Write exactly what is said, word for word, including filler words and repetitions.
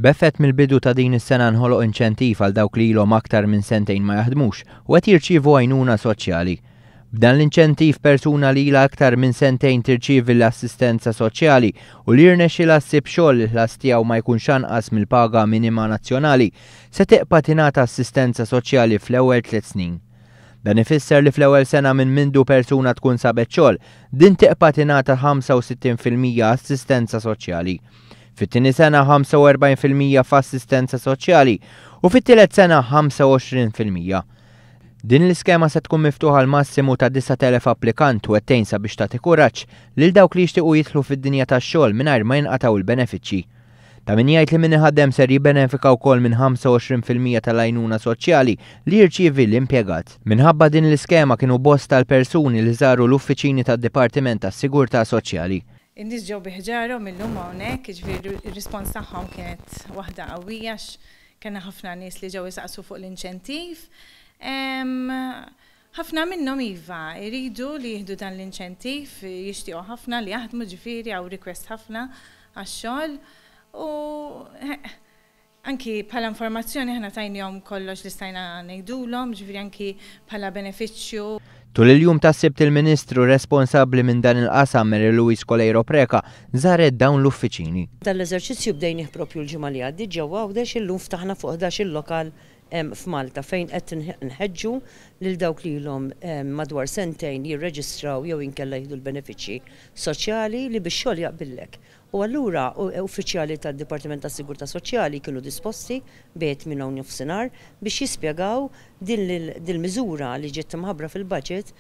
B'effett mill-bidu ta' din is-sena nħoloq inċentiv għal dawk li ilhom aktar minn sentejn ma jaħdmux u qed jirċievu għajnuna soċjali. B'dan l-inċentiv, persuna li ilha aktar minn sentejn tirċievi l-assistenza soċjali u li jirnexxilha ssib xogħol li l-ħlas tiegħu ma jkunx anqas mill-paga minima nazzjonali se tibqa' tingħata assistenza soċjali fl-ewwel tliet snin. Dan ifisser li fl-ewwel sena minn mindu persuna tkun sabet xogħol, din tibqa' tingħata ħamsa u sittin fil-mija assistenza soċjali. Fit-tieni sena ħamsa u erbgħin fil-mija f'assistenza soċjali u fit-tielet sena ħamsa u għoxrin fil-mija. Din l-iskema se tkun miftuħa għal massimu ta' disa' elef applikant u qed sabiex tagħti kuraġġ lil dawk li jixtiequ jidħlu fid-dinja tax-xogħol mingħajr ma jinqataw il-benefiċċji. Ta' min jgħid li min iħaddem ser jibbenefika wkoll minn ħamsa u għoxrin fil-mija tal-għajnuna soċjali li jirċievi l-impjegat. Minħabba din l-iskema kienu bosta l-persuni li żaru l-uffiċini tad-Dipartiment tas-Sigurtà Soċjali. In-nies ġew bi ħġarhom illum hawnhekk, jiġifieri ir-rispons tagħhom kienet waħda qawwija, kellna ħafna nies li ġew isaqsu fuq l-inċentiv. Ħafna minnhom iva, iridu li jieħdu dan l-inċentiv, jixtiequ ħafna li jaħdmu, ġifieri hawn request ħafna għax-xogħol. U anki bħala informazzjoni aħna tajnihom kollox li stajna ngħidulhom, ġifieri anki bħala benefiċċju. Tul il-jum ta' Sibt, il-Ministru responsabbli minn dan il-qasam, Mary Louise Coleiro Preka, żaret dawn l-uffiċini. Dan l-eżerċizzju bdejnih propju l-ġimgħa li għaddiet ġewwa Għawdex. Illum ftaħna fuq ħdax-il lokal f'Malta fejn qed nħeġġu lil dawk li ilhom madwar sentejn jirreġistraw jew inkella jieħdu l-benefiċċji soċjali li bix-xogħol jaqbillek. U allura uffiċjali tad-Dipartiment tas-Sigurtà Soċjali kienu disposti bejn minn hawn nofsinhar biex jispjegaw din il-miżura li ġiet imħabbra fil-budget.